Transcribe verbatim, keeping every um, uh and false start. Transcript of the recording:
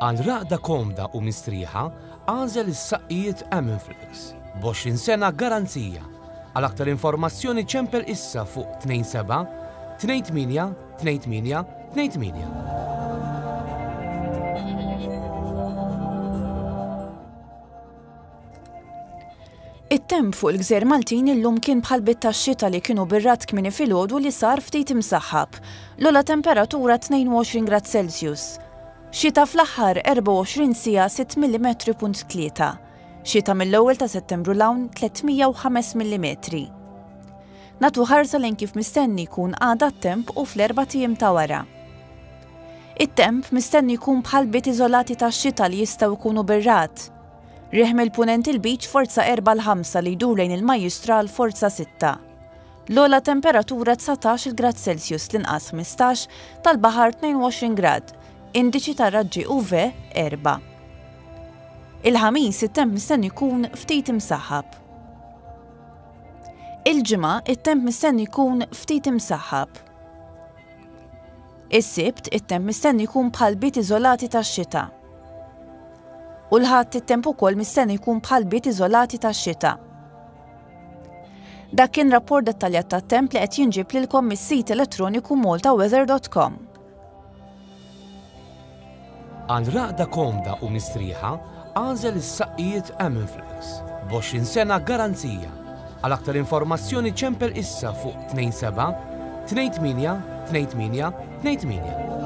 Għal raqda komda u mistrieħa, għażel is-saqqijiet Aminflex. B'għoxrin sena garanzija. Għal aktar informazzjoni ċempel issa fuq tnejn seba' tnejn tmienja tnejn tmienja tnejn tmienja. It-temp fuq il-Gżejjer Maltin illum kien bħal bit tax-xita li kienu bir-rat kmieni filgħodu li sar ftit imsaħħab. L-ogħla temperatura tnejn u għoxrin grad Celsius. Xita fl-aħħar erbgħa u għoxrin siegħa sitt millimetri punt tlieta. Xita mill-ewwel ta' Settembru l-hawn tliet mija u ħames millimetri. Natu ħarsa lejn kif mistenni jkun għada t-temp u fl-erba' tiem ta' wara. It-temp mistenni jkun bħal bit iżolati tax-xita li jistgħu jkunu bir-rat. Riħ mill-punent il-Lbiċ forza erba' l ħamsa li jdur lejn il-Majjistral forza sitta. L-ogħla temperatura dsatax il grad Celsius, l-inqas ħmistax, tal-baħar tnejn u għoxrin grad, indiċi tar-raġġi U V erba'. Il-ħamis it-temp mistenni jkun ftit imsaħħab. Il-ġimgħa it-temp mistenni jkun ftit imsaħħab. Is-Sibt it-temp mistenni jkun bħal bit iżolati tax-xita. U l-Ħadd it-temp ukoll mistenni jkun bħal bit iżolati tax-xita. Dak kien rapport dettaljat tat-temp li qed jinġib lilkom mis-sit elettroniku malta weather dot com. Għal raqda komda u mistrieħa, għażel is-saqqijiet Aminflex. B'għoxrin sena garanzija. Għal aktar informazzjoni ċempel issa fuq tnejn seba' tnejn tmienja tnejn tmienja tnejn tmienja.